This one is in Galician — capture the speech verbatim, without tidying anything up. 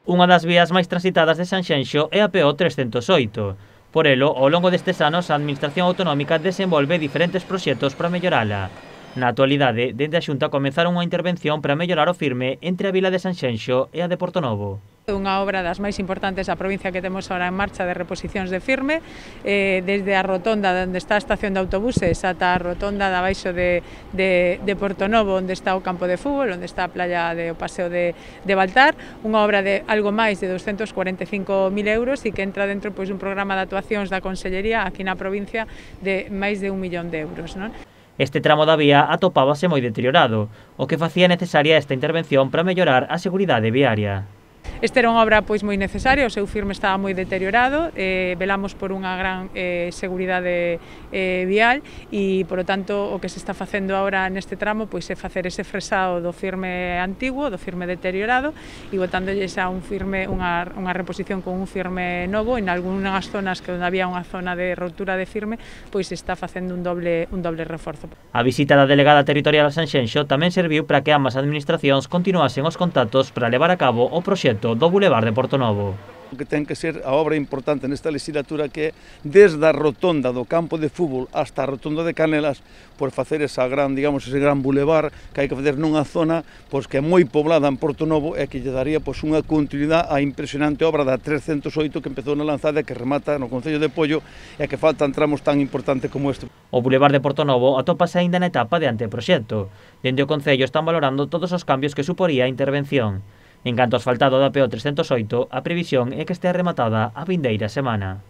Unha das vías máis transitadas de Sanxenxo é a P O trescentos oito. Por elo, ao longo destes anos, a Administración Autonómica desenvolve diferentes proxectos para mellorala. Na actualidade, dende a Xunta comenzaron unha intervención para mellorar o firme entre a vila de Sanxenxo e a de Portonovo. É unha obra das máis importantes da provincia que temos ahora en marcha de reposicións de firme, eh, desde a rotonda onde está a estación de autobuses ata a rotonda de abaixo de, de, de Portonovo, onde está o campo de fútbol, onde está a playa de o paseo de, de Baltar, unha obra de algo máis de doscientos cuarenta e cinco mil euros e que entra dentro pois, dun programa de actuacións da Consellería aquí na provincia de máis de un millón de euros. Non? Este tramo da vía atopábase moi deteriorado, o que facía necesaria esta intervención para mellorar a seguridade viaria. Esta era unha obra pois moi necesaria, o seu firme estaba moi deteriorado, eh, velamos por unha gran eh, seguridade eh, vial e, por lo tanto, o que se está facendo agora neste tramo pois é facer ese fresado do firme antigo, do firme deteriorado e botándolles a un firme, unha, unha reposición con un firme novo. En algunhas zonas que onde había unha zona de rotura de firme, pois se está facendo un doble, un doble reforzo. A visita da delegada territorial a Sanxenxo tamén serviu para que ambas administracións continuasen os contactos para levar a cabo o proxecto do Boulevard de Portonovo. Que ten que ser a obra importante nesta legislatura que é desde a rotonda do campo de fútbol hasta a rotonda de Canelas por facer esa gran, digamos, ese gran bulevar que hai que facer nunha zona pois que é moi poblada en Portonovo e que lle daría pois unha continuidade á impresionante obra da trescentos oito que empezou na lanzada e que remata no concello de Pollo e que faltan tramos tan importantes como este. O Boulevard de Portonovo atópase aínda na etapa de anteproxecto. Dende o concello están valorando todos os cambios que suporía a intervención. En canto ao asfaltado da P O trescentos oito, a previsión é que estea rematada a vindeira semana.